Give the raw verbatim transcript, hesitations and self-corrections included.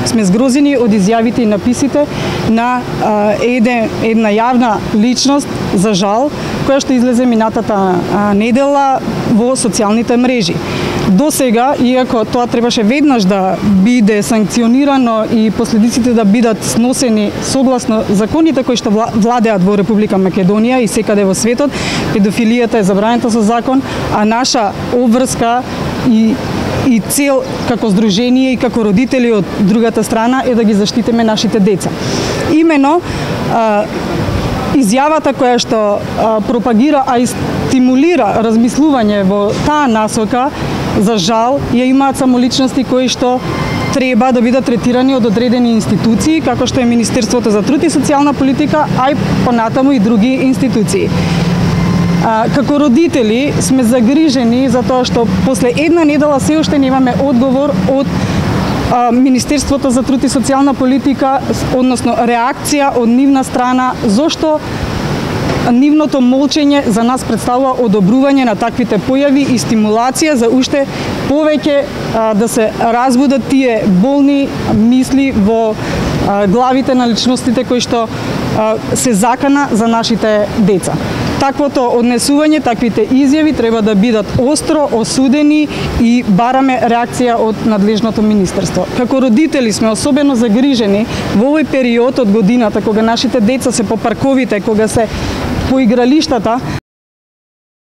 сме згрозени од изјавите и написите на а, еде, една јавна личност, за жал, која што излезе минатата а, недела во социјалните мрежи. До сега, иако тоа требаше веднаш да биде санкционирано и последиците да бидат сносени согласно законите кои што владеат во Република Македонија и секаде во светот, педофилијата е забранета со закон, а наша обврска и и цел како здружение и како родители од другата страна е да ги заштитиме нашите деца. Имено а, изјавата која што а, пропагира, а и стимулира размислување во таа насока, за жал, ја имаат само личности кои што треба да бидат третирани од одредени институции, како што е Министерството за труд и социјална политика, а и понатаму и други институции. А, како родители сме загрижени за тоа што после една недела се уште немаме одговор од а, Министерството за труд и социјална политика, односно реакција од нивна страна, зошто нивното молчење за нас представува одобрување на таквите појави и стимулација за уште повеќе а, да се разбудат тие болни мисли во а, главите на личностите кои што а, се закана за нашите деца. Таквото однесување, таквите изјави треба да бидат остро осудени и бараме реакција од надлежното министерство. Како родители сме особено загрижени во овој период од годината кога нашите деца се по парковите, кога се по игралиштата,